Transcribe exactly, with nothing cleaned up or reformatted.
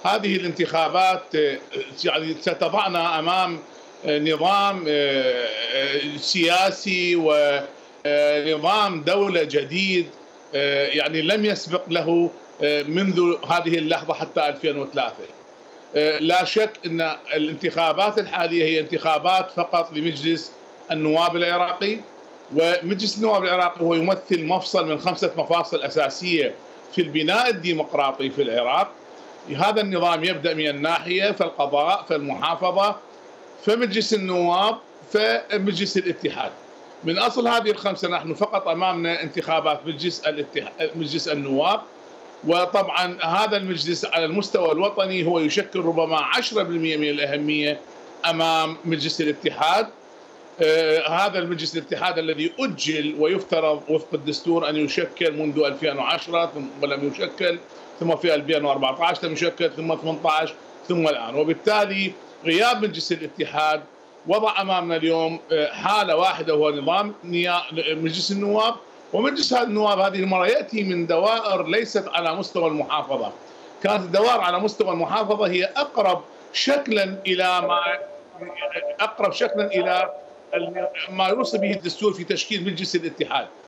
هذه الانتخابات يعني ستضعنا امام نظام سياسي ونظام دولة جديد يعني لم يسبق له منذ هذه اللحظة حتى ألفين وثلاثة. لا شك أن الانتخابات الحالية هي انتخابات فقط لمجلس النواب العراقي، ومجلس النواب العراقي هو يمثل مفصل من خمسة مفاصل أساسية في البناء الديمقراطي في العراق. هذا النظام يبدأ من الناحية فالقضاء فالمحافظة فمجلس النواب فمجلس الاتحاد. من أصل هذه الخمسة نحن فقط أمامنا انتخابات مجلس الاتحاد مجلس النواب، وطبعا هذا المجلس على المستوى الوطني هو يشكل ربما عشرة بالمئة من الأهمية أمام مجلس الاتحاد. آه هذا المجلس الاتحاد الذي أجل ويفترض وفق الدستور أن يشكل منذ ألفين وعشرة ولم يشكل، ثم في ألفين وأربعة عشر لم يشكل، ثم ثمانية عشر ثم الآن. وبالتالي غياب مجلس الاتحاد وضع أمامنا اليوم حالة واحدة وهو نظام مجلس النواب. ومجلس النواب هذه المرة يأتي من دوائر ليست على مستوى المحافظة، كانت الدوائر على مستوى المحافظة هي أقرب شكلا إلى ما أقرب شكلا إلى ما يوصي به الدستور في تشكيل مجلس الاتحاد.